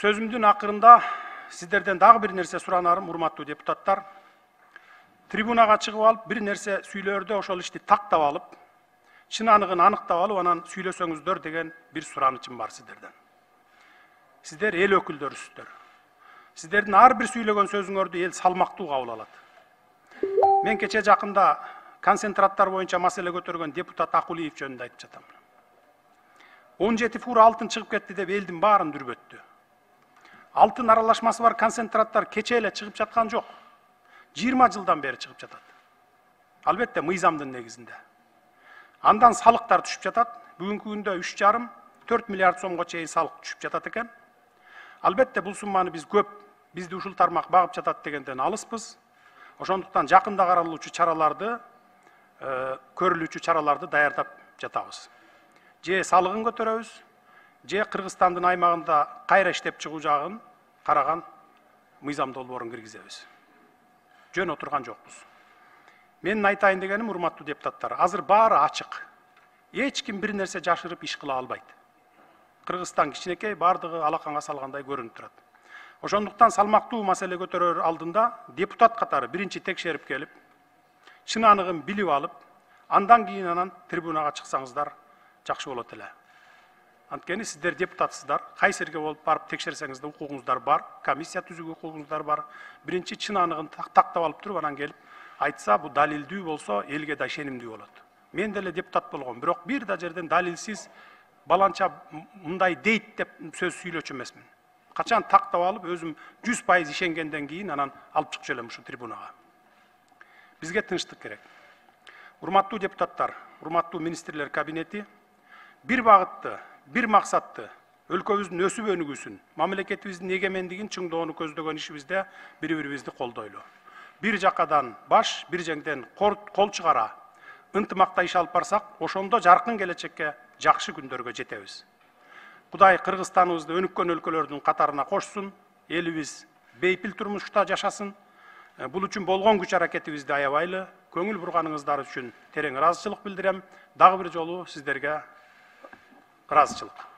Сөзүмдүн акырында сиздерден дагы бир нерсе суранарым, урматтуу депутаттар. Трибунага чыгып алып, бир нерсе сүйлөөрдө ошол ишти тактап алып, чын аныгын аныктап алып, анан сүйлөсөңүздөр деген бир суранычым бар сиздерден. Сиздер эл өкүлдөрүсүздөр. Сиздердин ар бир сүйлөгөн сөзүңөрдү эл салмактуу кабыл алат. Мен кече жакында концентраттар боюнча маселе көтөргөн депутат Акулиев жөнүндө айтып жатам. 17 фура алтын чыгып кетти деп элдин баарын дүрбөттү. Алтын аралашмасы бар концентраттар кече эле чыгып жаткан жок. 20 жылдан бери чыгып жатат. Албетте мыйзамдын негизинде. Андан салыктар түшүп жатат. Бүгүнкү күндө 3,5–4 миллиард сомго чейин салык түшүп жатат экен. Албетте бул сумманы биз көп, бизди ушул тармак багып жатат дегенден алыспыз. Ошондуктан жакында каралуучу чараларды, көрүлүүчү чараларды даярдап жатабыз. Же салыгын көтөрөбүз, же Кыргызстандын аймагында кайра иштеп чыгуу жагын караган мыйзам долбоорун киргизебиз. Жөн отурган жокпуз. Менин айтайын дегеним, урматтуу депутаттар, азыр баары ачык. Эч ким бир нерсе жашырып иш кыла албайт. Кыргызстан кичинекей, бардыгы алаканга салгандай көрүнүп турат. Ошондуктан салмактуу маселе көтөрөр алдында депутат катары биринчи текшерип келип, чын аныгын билип алып, андан кийин анан трибунага чыксаңыздар жакшы болот эле. Анткени сиздер депутатсыздар, кайсы жерге болуп барып текшерсеңиз да укугуңуздар бар, комиссия түзүүгө укугуңуздар бар. Биринчи чын аныгын тактап алып туруп, анан келип айтса, бу далилдүү болсо, элге да ишенимдүү болот. Мен деле депутат болгом, бирок бир да жерден далилсиз баланча мындай дейт деп сөз сүйлөчү эмесмин. Качан тактап алып, өзүм 100% ишенгенден кийин анан алып чыгып элем ушу трибунага. Бизге тынчтык керек. Урматтуу депутаттар, урматтуу министрлер кабинети бир багытты, бир максатты, өлкөбүздүн өсүп өнүгүүсүн, мамлекетибиздин эгемендигин чыңдоону көздөгөн ишибизде бири-бирибизди колдойлу. Бир жакадан баш, бир жеңден кол чыгара, ынтымакта иш алып барсак, ошондо жаркын келечекке, жакшы күндөргө жетебиз. Кудай Кыргызстаныбызды өнүккөн өлкөлөрдүн катарына кошсун, элибиз бейпил турмушта жашасын. Бул үчүн болгон күч аракетибизди аябайлы, көңүл бурганыңыздар үчүн терең ыраазычылык билдирем. Дагы бир жолу сиздерге ыраазычылык.